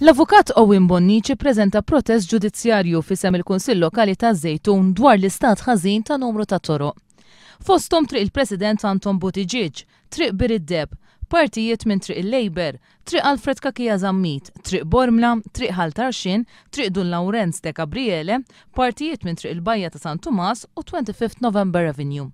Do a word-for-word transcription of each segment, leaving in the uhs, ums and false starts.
L-Avukat Owen Bonnici ppreżenta protest ġudizzjarju f'isem il-Kunsill Lokali taż-Żejtun dwar l-istat ħażin ta' numru ta' toroq. Fosthom Triq il-President Anton Buttigieg, Triq Bir id-Deheb, partijiet minn Triq il-Labour, Triq Alfred Cachia Zammit, Triq Bormla, Triq Ħal Tarxien, Triq Dun Lawrenz de Gabriele, partijiet minn Triq il-Bajja ta' San Tumas u twenty-fifth November Avenue.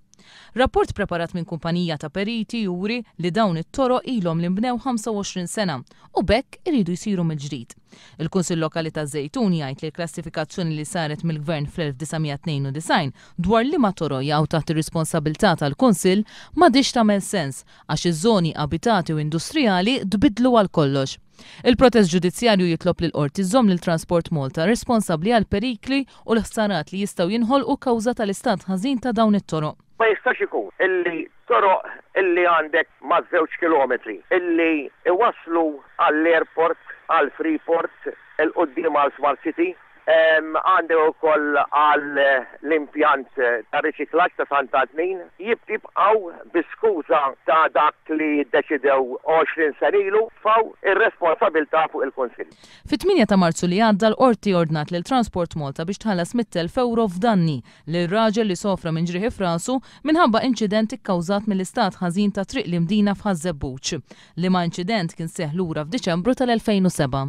Rapport preparat minn kumpanija ta' periti juri li dawn it-toroq ilhom li nbnew ħamsa u għoxrin sena u b'hekk iridu jsiru mill-ġdid. Il-Kunsill Lokali taż-Żejtun jgħid li l-klassifikazzjoni li saret mill-Gvern fl-elf disa' mija tnejn u disgħin dwar liema toroq jaqgħu taħt ir-responsabilità tal-Kunsill m'għadhiex tagħmel sens għax iż-żoni abitati u industrijali tbiddlu għal kollox. Il-protest ġudizzjarju jitlob lil qorti żomm lil Transport Malta responsabbli għal perikli u l-ħsarat li jistgħu jinħolqu kawża tal-istat ħażin ta' dawn it-toroq. Ma jistax ikun illi toroq illi għandek ma' żewġ kilometri illi iwasslu għall-airport, għall-Freeport, il-qudiem għal Smart City, em, għandek ukoll għal l-impjant ta' riċiklaġġ ta' Sant'Antnin, jibqgħu bi skuża ta' dak li ddeċidew għoxrin sena ilu faw ir-responsabilità fuq il-Kunsill. Fit-tmienja ta' Marzu li għadda l-qorti ordnat lil Transport Malta biex tħallas mitt elf euro f'danni lil raġel li sofra minn ġrieħi f'rasu minħabba inċident ikkawżat mill-istat ħażin ta' Triq l-Imdina f'Ħaż-Żebbuġ, liema inċident kien seħħ lura f'Diċembru tal-elfejn u sebgħa.